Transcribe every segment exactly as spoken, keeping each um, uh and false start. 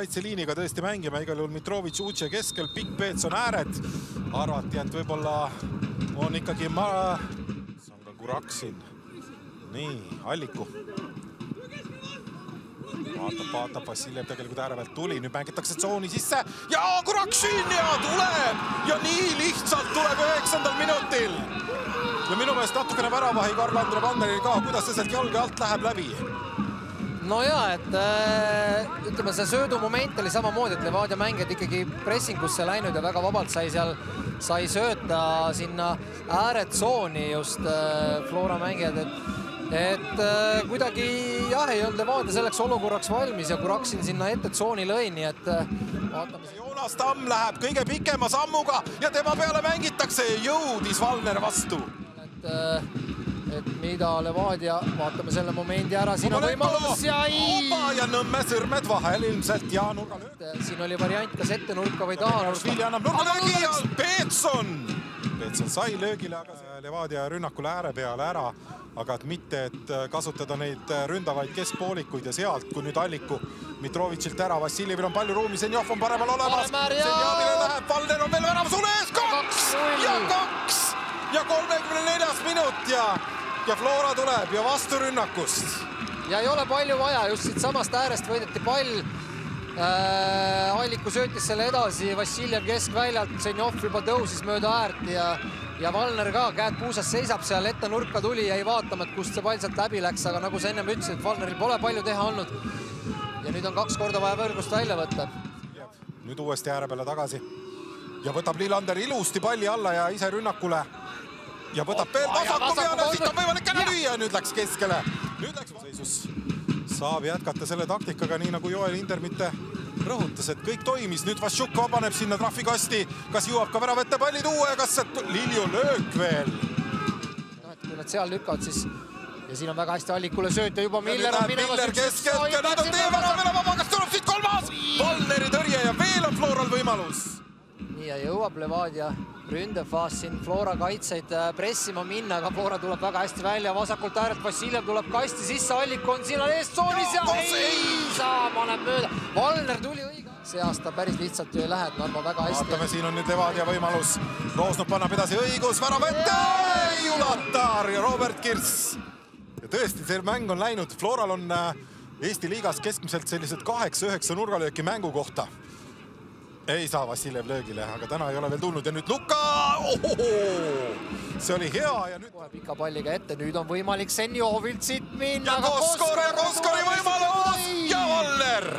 kaitseliiniga tõesti mängima, igal juhul Mitrovic Uche keskel, Pikk Peetson ääred. Arvati, et võib-olla on ikkagi ma... See on ka Kuraksin. Nii, Alliku. Vaatab, vaatab, Vassiljev tegelikult ääre pealt tuli, nüüd mängitakse tsooni sisse ja Kuraksin ja tuleb ja nii lihtsalt tuleb üheksandal minutil. Ja minu meelest natukene väravahi Karl-Andre Vanneril ka, kuidas see sealt jalge alt läheb läbi? No jaa, et äh, ütleme, see söödumoment oli samamoodi, et Levadia mängijad ikkagi pressingusse läinud ja väga vabalt sai seal sai sööta sinna ääretsooni just äh, Flora mängijad, et et äh, kuidagi jah, ei olnud Levadia selleks olukorraks valmis ja Kuraksin sinna ette tsooni lõi, nii et äh, vaatame. Joonas Tamm läheb kõige pikema sammuga ja tema peale mängitakse ja jõudis Valner vastu. Et, äh, et mida Levadia, vaatame selle momendi ära, siin on võimalus ja ei... Opa ja Nõmme sõrmed vahel ilmselt ja nurga lööb. Siin oli variant kas ette nurka või taha nurka. Švili annab nurga löögi ja Peetson! Peetson sai löögile, aga Levadia rünnakule ääre peale ära, aga et mitte, et kasutada neid ründavaid keskpoolikuid ja sealt, kui nüüd Alliku Mitrovic'ilt ära, Vassiljevil on palju ruumi, Senjov on paremal olemas, Senjavile läheb, Valner on veel väravas ules, kaks ja kaks ja kolmekümne neljas minut ja ja Flora tuleb ja vastu rünnakust. Ja ei ole palju vaja, just siit samast äärest võideti pall. Äh, Alliku söötis selle edasi, Vassiljev keskväljalt, Senjov juba tõusis mööda äärt ja, ja Valner ka, käed puusas seisab seal, ette nurka tuli ja ei vaatama, et kust see pall sealt läbi läks, aga nagu sa ennem ütlesid, et Valneril pole palju teha olnud. Ja nüüd on kaks korda vaja võrgust välja võtta. Nüüd uuesti ääre peale tagasi ja võtab Lillander ilusti palli alla ja ise rünnakule. Ja võtab veel vasaku peale, siit on võimalik ära lüüa, nüüd läks keskele. Nüüd läks seisus. Saab jätkata selle taktikaga, nii nagu Joel Inder mitte rõhutas, et kõik toimis. Nüüd Vašuk vabaneb sinna trahvikasti, kas jõuab ka väravette palli tuua ja kas Lilju löök veel? No, et kui nad seal lükkavad, siis ja siin on väga hästi Allikule sööt ja juba Miller on minemas. Miller keskelt ja nüüd on tee värav veel vaba, kas tuleb siit kolmas? Valneri tõrje ja veel on Floral võimalus. Nii ja jõuab Levadia ründefaas siin Flora kaitseid pressima minna, aga Flora tuleb väga hästi välja, vasakult äärelt Vassiljev tuleb kasti sisse, Allik on siin eest tsoonis ja ei saa, paneb mööda. Valner tuli õige. See aasta päris lihtsalt ju ei lähe, et Narva väga hästi. Vaatame, siin on nüüd Levadia võimalus. Roosnov pannab edasi õigus, väravette, ei ulatar ja Robert Kirss. Ja tõesti, see mäng on läinud. Floral on Eesti liigas keskmiselt sellised kaheksa üheksa nurgalööki mängu kohta. Ei saa Vassiljev löögile, aga täna ei ole veel tulnud ja nüüd Luka! Ohoho! See oli hea ja nüüd... Pika palliga ette, nüüd on võimalik Senjovilt siit minna. Ja Koskor ja Koskori võimalus! Ja Valner!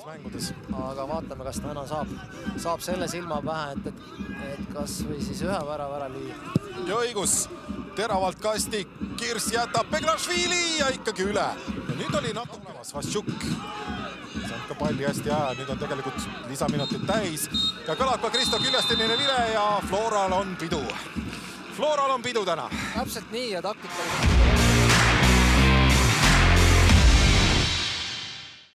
Mängudes. Aga vaatame, kas täna saab, saab selle silma pähe, et, et, et kas või siis ühe värava ära lüüa. Ja õigus, teravalt kasti, Kirss jätab Beglašvili ja ikkagi üle. Ja nüüd oli natuke Vašuk. Saab ka palli hästi aja, nüüd on tegelikult lisaminutit täis. Ja kõlab ka Kristo Küljastinile vile ja Floral on pidu. Floral on pidu täna. Täpselt nii ja taktikal.